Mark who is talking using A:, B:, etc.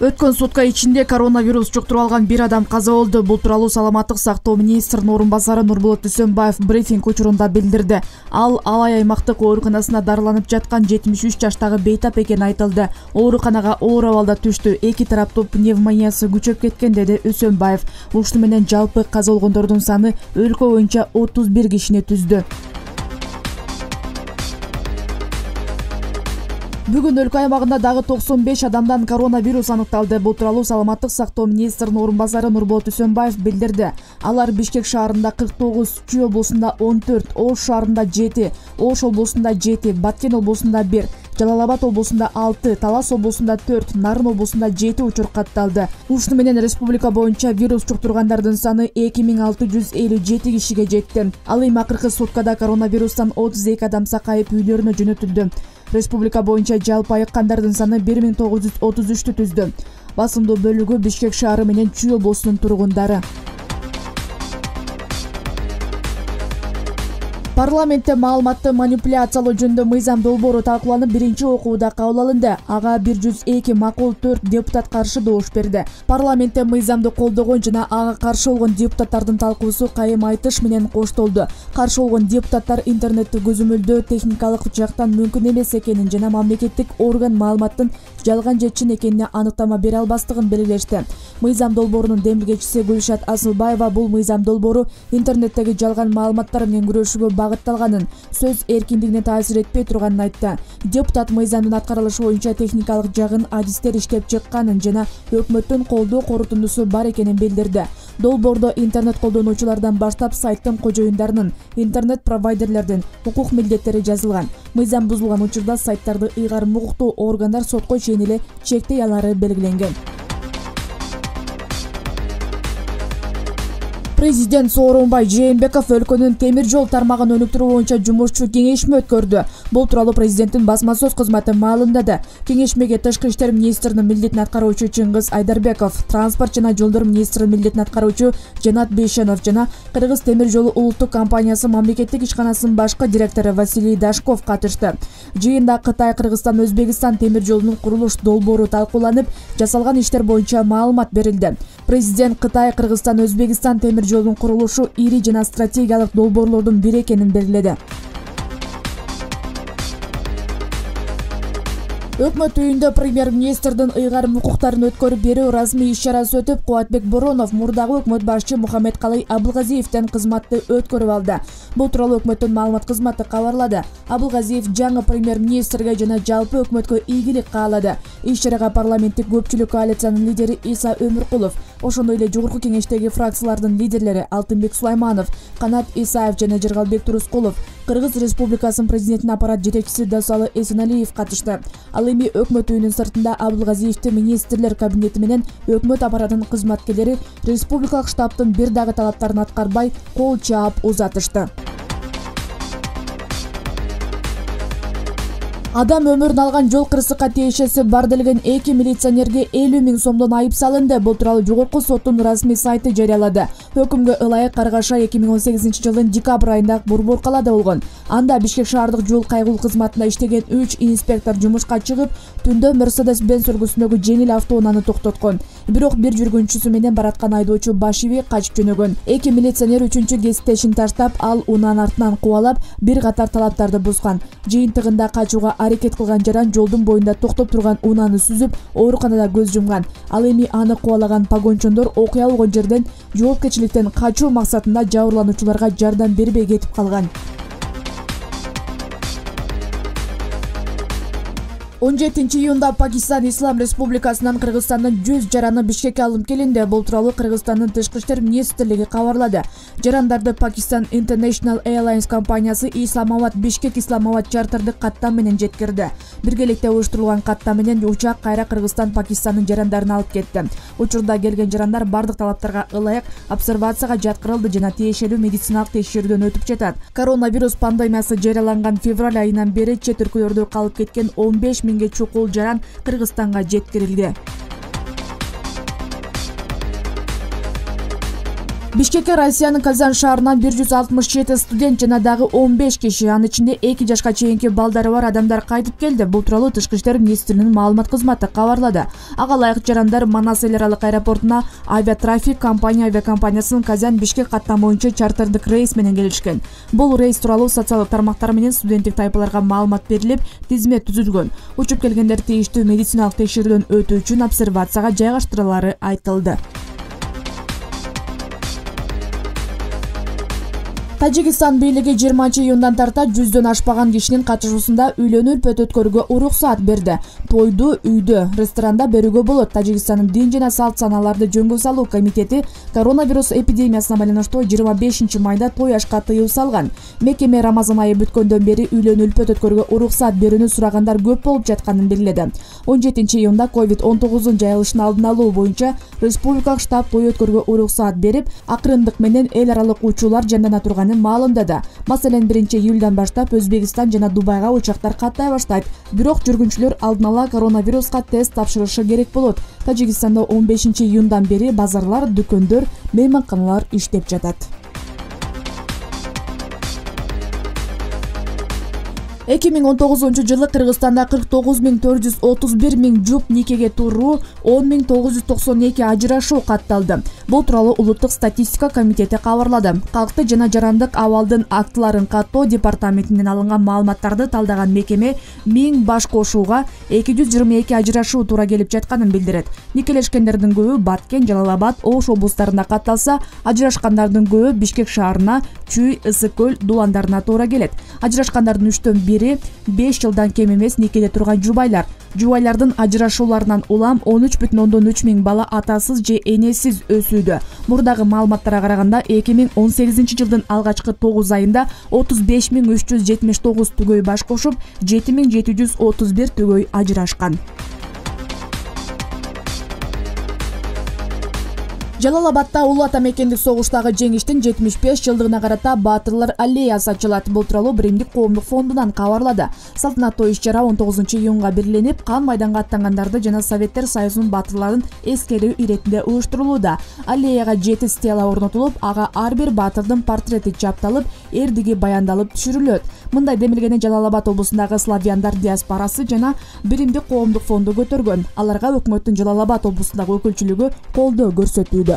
A: Өткөн сутка ичинде коронавирус жуктуруп алган бир адам каза болду. Бул тууралуу саламаттык сактоо министринин орун басары Нурболот Дүйсөнбаев брифинг учурунда билдирди. Ал Алай аймактык ооруканасына дарыланып жаткан 73 жаштагы бейтап экени айтылды. Ооруканага оор абалда түштү. Эки тараптуу пневмониясы күчөп кеткен, деди Дүйсөнбаев. Ушуну менен жалпы каза болгондордун саны өлкө боюнча 31 кишини түздү. Бүгүн өлкө аймагында дагы 95 адамдан коронавирус аныкталды. Бул тууралуу саламаттык сактоо министринин орун басары Нурболот Дүйсөнбаев билдирди. Алар Бишкек шаарында 49, Чүй облусунда 14, Ош шаарында 7, Ош облусунда 7, Баткен облусунда 1, Жалал Абад облусунда 6, Талас облусунда 4, Нарын облусунда 7 учур катталды. Ушуну менен республика боюнча вирус жуктургандардын саны 2657 кишиге жетти. Ал эми акыркы суткада коронавирустан 32 адам сакайып үйлөрүнө жөнөтүлдү. Республика боюнча жалпы айыккандардын саны 1933 түздү. Басымдуу бөлүгү Бишкек шаары менен Чүй облусунун тургундары. Парламентте маалыматты манипуляциялоо жөнүндө мыйзам долбоору талкууланып, биринчи окууда кабыл алынды. Ага 102 макул, 4 депутат каршы добуш берди. Парламентте мыйзамды колдогон жана ага каршы болгон депутаттардын талкуусу кайым айтыш менен коштолду. Каршы болгон депутаттар интернетти көзөмөлдөө техникалык жактан мүмкүн эмес экенин жана мамлекеттик орган маалыматтын жалган же чын экенине аныктама бере албастыгын белгилешти. Мыйзам долбоорунун демилгечиси Гүлшат Асылбаева бул мыйзам долбоору интернеттеги жалган маалыматтар менен күрөшүүгө багытталганын, сөз эркиндигине таасир этпей турганын айтты. Депутат мыйзамдын аткарылышы боюнча техникалык жагын адистер иштеп чыкканын жана өкмөттүн колдоо корутундусу бар экенин билдирди. Долбоордо интернет колдонуучулардан баштап сайттын кожоюндарынын, интернет провайдерлердин укук милдеттери жазылган. Мыйзам бузулган учурда сайттарды ыйгарым укуктуу органдар сотко чейин эле чектей алары белгиленген. Президент Сооронбай Жээнбеков өлкөнүн темир жол тармагын өнүктүрүү боюнча жумушчу кеңешме өткөрдү. Бул тууралуу президенттин басма сөз кызматы маалымдады. Кеңешмеге Тышкы иштер министринин милдетин аткаруучу Чыңгыз Айдарбеков, транспорт жана жолдор министринин милдетин аткаруучу Жанат Бейшенов жана Кыргыз темир жолу улуттук компаниясы мамлекеттик ишканасынын башкы директору Василий Дашков катышты. Жыйында Кытай, Кыргызстан, Өзбекстан темир жолунун курулуш долбоору талкууланып, жасалган иштер боюнча маалымат берилди. Президент Кытай, Кыргызстан, Өзбекстан темир жолунун курулушу ири жана стратегиялык долбоорлордун бири экенин белгиледи. Өкмөт үйүндө премьер-министрдин ыйгарым укуктарын өткөрүп берүү расмий иш-чарасы өтүп, Кубатбек Боронов мурдагы өкмөт башчы Мухаммедкалый Абылгазиевден кызматты өткөрүп алды. Бул тууралуу өкмөттүн маалымат кызматы кабарлады. Абылгазиев жаңы премьер-министрге жана жалпы өкмөткө ийгилик каалады. Иш-чарага парламенттик көпчүлүк коалициянын лидери Иса Өмүркулов, ошондой эле жогорку кеңештеги фракциялардын лидерлери Алтынбек Сулайманов, Канат Исаев жана Жыргалбек Турускулов, Кыргыз Республикасынын президентинин аппарат жетекчиси Досалы Эсеналиев катышты. Ал эми өкмөт үйүнүн сыртында Абылгазиевди министрлер кабинети менен өкмөт аппаратынын кызматкерлери республикалык штабтын бир дагы талаптарын аткарбай кол чаап узатышты. Адам өмүрүн алган жол кырсыкка тиешеси бар делген 2 милиционерге 50 000 сомдон айып салынды. Бул тууралуу жогорку соттун расмий сайты жарыялады. Өкүмгө ылайык Каргаша 2018 жылдын декабрь айында борбор калаада болгон. Анда Бишкек шаардык жол кайгылуу кызматында иштеген 3 инспектор жумушка чыгып, түндө Mercedes-Benz үлгүсүндөгү жеңил автоунааны токтоткон. Бирок бир жүргүнчүсү менен бараткан айдоочу баш ийбей качып жөнөгөн. 2 милиционер 3-кесиптешин таштап, ал унаанын артынан кубалап, бир катар талаптарды бузган. Жыйынтыгында качууга аракет кылган жаран жолдун боюнда токтоп турган унааны сүзүп, ооруканада көз жумган. Ал эми аны кубалаган погончондор окуя болгон жерден жоопкерчиликтен качуу максатында жабырлануучуларга жардам бербей кетип калган. 17 июнда Пакистан Ислам Республикасынан Кыргызстандын 100 жараны Бишкекке алынып келинди. Бул тууралуу Кыргызстандын Тышкы иштер министрлиги кабарлады. Жарандарды Pakistan International Airlines компаниясы Исламабад Бишкек Исламабад чартerdик каттам менен жеткирди. Биргеликте уюштурулган каттам менен учак кайра Кыргызстан Пакистандын жарандарын алып кетти. Учурда келген жарандар бардык талаптарга ылайык обсервацияга жаткырылды жана тиешелүү медициналык текшерүүдөн өтүп жатат. Коронавирус пандемиясы жарыяланган февраль айынан бери чет өлкөлөрдө калып кеткен 15 000 чукул жаран Кыргызстанга жеткирилди. Бишкекке Россиянын Казан шаарынан 167 студент жана дагы 15 киши, анын ичинде 2 жашка чейинки балдары бар адамдар кайтып келди. Бул тууралуу Тышкы иштер министринин маалымат кызматы кабарлады. Ага ылайык жарандар Манас эл аралык аэропортуна авиатрафик авиакомпаниясынын Казан-Бишкек каттам боюнча чартердик рейс менен келишкен. Бул рейс тууралуу социалдык тармактар менен студенттик тайпаларга маалымат берилип, тизме түзүлгөн. Учуп келгендер тийиштүү медициналык текшерүүдөн өтүү үчүн обсервацияга жайгаштырылары айтылды. Тажикстан бийлиги 20-июндан тарта 100дөн ашпаган кишинин катышуусунда үйлөнүү үлпөт өткөрүүгө уруксаат берди. Тойду үйдө, ресторанда берүүгө болот. Тажикстандын дин жана салт санааларды жөнгө салуу комитети коронавирус эпидемиясына байланыштуу 25 майда той ашка тыюу салган. Мекеме Рамазан айы бүткөндөн бери үйлөнүү үлпөт өткөрүүгө уруксаат берүүнү сурагандар көп болуп жатканын белгиледи. 17-июнда COVID-19 жайылышын алдын алуу боюнча республикалык штаб той өткөрүүгө уруксаат берип, акырындык менен эл аралык учуулар жандана турганын маалымдады. Маселен, 1-июлдан баштап Өзбекстан жана Дубайга учактар каттай баштайт. Бирок жүргүнчүлөр алдын ала коронавируска тест тапшырышы керек болот. Тажикстанда 15-июндан бери базарлар, дүкөндөр, мейманканалар иштеп жатат. 2019-жылы Кыргызстанда 49.431 жуп никеге туруу, 10.992 ажырашуу катталды. Бул тууралуу Улуттук статистика комитети кабарлады. Калкты жана жарандык абалдын актыларын каттоо департаментинен алынган маалыматтарды талдаган мекеме 1000 баш кошууга 222 ажырашуу туура келип жатканын билдирет. Никелешкендердин көбү Баткен, Жалал-Абад, Ош облустарында катталса, ажырашкандардын көбү Бишкек шаарына, Чүй, Ысык көл дуландарына туура келет. Ажырашкандардын 3/1 5 жылдан кем эмес никеде турган жубайлар. Жубайлардын ажырашууларынан улам 13,3 миң бала атасыз же энесиз өсүүдө. Мурдагы маалыматтарга караганда 2018 жылдын алгачкы 9 айында 35.379 түгөй баш кошуп, 7.731 түгөй ажырашкан. Жалал-Абадта Улуу Ата мекендик согуштагы жеңиштин 75 жылдыгына карата Баатырлар аллеясы ачылат. Бул тууралуу Биримдик коомдук фондунан кабарлады. Салтанаттуу иш-чара 19-июнга бирленип, кан майданга аттангандарды жана Советтер Союзунун баатырларын эскерүү иретинде уюштурулууда. Аллеяга 7 стела орнотулуп, ага ар бир баатырдын портрети чапталып, эрдиги баяндалып түшүрүлөт. Мындай демилгени Жалал-Абад облусундагы славяндар диаспорасы жана Биримдик коомдук фонду көтөргөн. Аларга өкмөттүн Жалал-Абад облусундагы өкүлчүлүгү колдоо көрсөтүүдө.